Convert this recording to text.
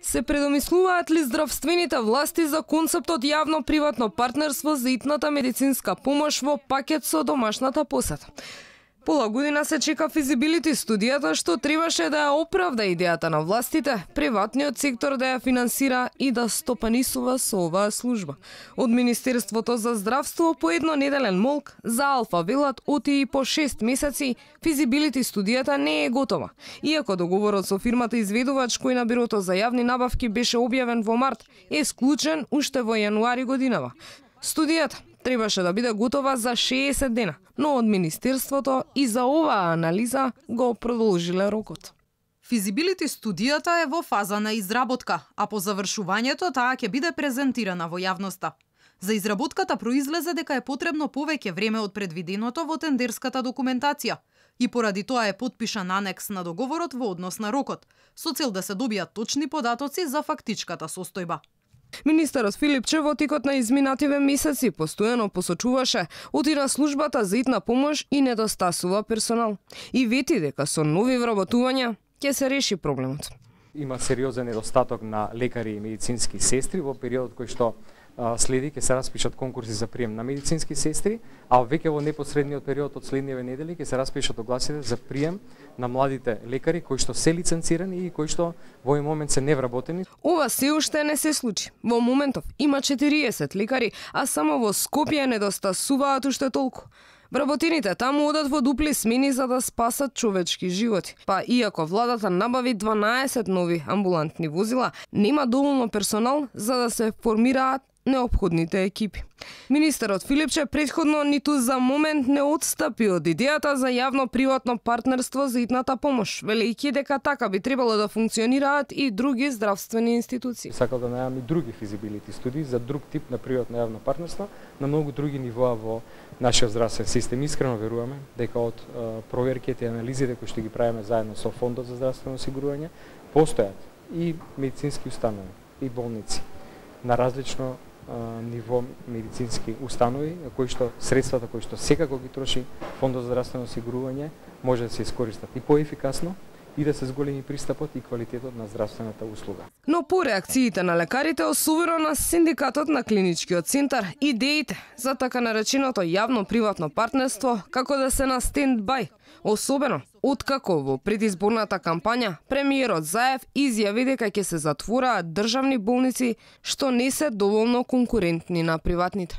Се предомислуваат ли здравствените власти за концептот јавно-приватно партнерство за итната медицинска помош во пакет со домашната посета? Пола година се чека физибилити студијата што требаше да ја оправда идејата на властите, приватниот сектор да ја финансира и да стопанисува со оваа служба. Од Министерството за здравство по еднонеделен молк за Алфа велат оти и по 6 месеци физибилити студијата не е готова. Иако договорот со фирмата изведувач кој на Бирото за јавни набавки беше објавен во март, е склучен уште во јануари годинава. Студијата требаше да биде готова за 60 дена, но од Министерството и за оваа анализа го продолжиле рокот. Физибилити студијата е во фаза на изработка, а по завршувањето таа ќе биде презентирана во јавноста. За изработката произлезе дека е потребно повеќе време од предвиденото во тендерската документација и поради тоа е потпишан анекс на договорот во однос на рокот, со цел да се добијат точни податоци за фактичката состојба. Министерот Филипче во текот на изминативе месеци постојано посочуваше оти на службата за итна помош и недостасува персонал. И вети дека со нови вработувања ќе се реши проблемот. Има сериозен недостаток на лекари и медицински сестри во периодот кој што следи ќе се распишат конкурси за прием на медицински сестри, а веќе во непосредниот период од следниве недели ќе се распишат огласите за прием на младите лекари кои што се лиценцирани и кои што во овој момент се невработени. Ова се уште не се случи. Во моментов има 40 лекари, а само во Скопје недостасуваат уште толку. Вработените таму одат во дупли смени за да спасат човечки животи. Па иако владата набави 12 нови амбулантни возила, нема доволно персонал за да се формираат неопходните екипи. Министерот Филипче претходно ниту за момент не отстапи од идејата за јавно-приватно партнерство за итната помош, велејќи дека така би требало да функционираат и други здравствени институции. Сакал да најавам и други физибилити студии за друг тип на приватно јавно партнерство на многу други нивоа во нашиот здравствен систем. Искрено веруваме дека од проверките и анализите кои што ги правиме заедно со Фондот за здравствено осигурување постојат и медицински установи и болници на различно ниво медицински установи, кои што средствата кои што секако ги троши Фондот за здравствено осигурување може да се искористат и поефикасно и да се зголеми пристапот и квалитетот на здравствената услуга. Но по реакциите на лекарите, особено на синдикатот на клиничкиот центар, идеите за така нареченото јавно-приватно партнерство како да се на стенд-бај, особено откако во предизборната кампања премиерот Заев изјави дека ќе се затвораат државни болници што не се доволно конкурентни на приватните.